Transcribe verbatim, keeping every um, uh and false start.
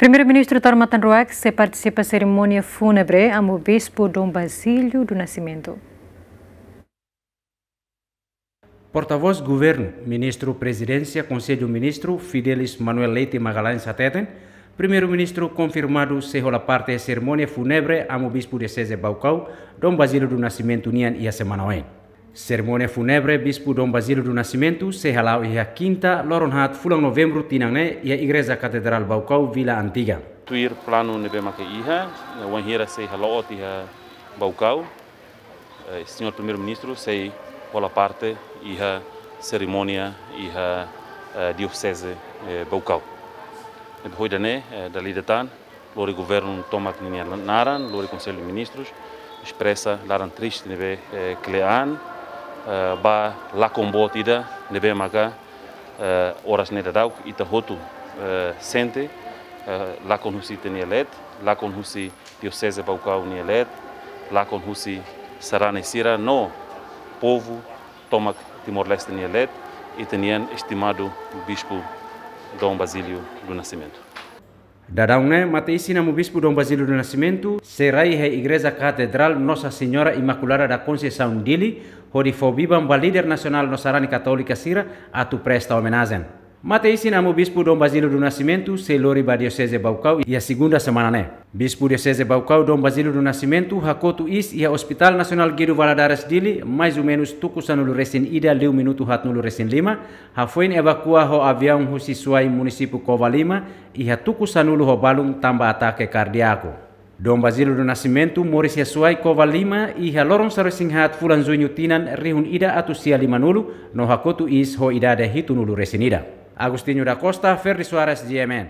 Primeiru-Ministru Taur Matan Ruak sei partisipa serimónia fúnebre Amu Bispu Dom Basílio do Nascimento. Portavós Governu, Ministru Prezidénsia, Konsellu Ministru, Fidelis Manuel Leite Magalhães hateten, Primeiru-Ministru konfirmadu sei hola parte serimónia fúnebre Amu Bispu Dioseze Baucau, Dom Basílio do Nascimento nian iha semana oin. Serimónia fúnebre Bispu Dom Basílio do Nascimento sei hala'o iha kinta, loron haat fulan Novembru tinan ne'e iha Igreja Katedrál Baucau, Vila Antiga. Tuir planu ne'ebé maka iha, wainhira sei hala'o tiha Baucau, eh, Señór Primeiru-Ministru sei hola parte iha serimónia iha, eh, Dioseze, eh, Baucau. Ne'ebé ohin ne'e, eh, dala ida tan, lori Governu tomak ninia naran, lori Konsellu Ministrus, espresa laran triste ne'ebé, eh, kle'an, eh, ba lakon boot ida ne'ebé maka, eh, oras ne'e daudauk ita hotu, eh, sente, eh, lakon husi ita-nia leet, lakon husi Dioseze Baucau nia leet, lakon husi sarani sira no povu tomak Timor-Leste nia leet, ita-nian estimadu Bispu Dom Basílio do Nascimento. Daudaun ne'e, mate-isin Amu Bispu Dom Basílio do Nascimento sei rai iha Igreja Katedrál Nossa Senhora Imaculada da Conceição Dili, hodi fó biban ba líder nasionál no sarani katólika sira atu presta omenajen. Mate-isin Amu Bispu Dom Basílio do Nascimento sei lori ba Dioseze Baucau iha segunda semana ne'e. Bispu Dioseze Baucau Dom Basílio do Nascimento hakotu iis iha Hospital Nasionál Guido Valadares Dili, mais ou menus tuku sanulu resin ida liu minutu haatnulu resin lima, hafoin evakua ho aviaun husi Suai, munisípiu Covalima, iha tuku sanulu ho balun tanba atake kardiaku. Dom Basílio do Nascimento moris iha Suai, Covalima, iha loron sanulu resin haat fulan Juñu tinan rihun ida atus sia limanulu, no hakotu iis ho idade hitunulu resin ida. Agostinho da Costa, Ferdi Soares, G M N.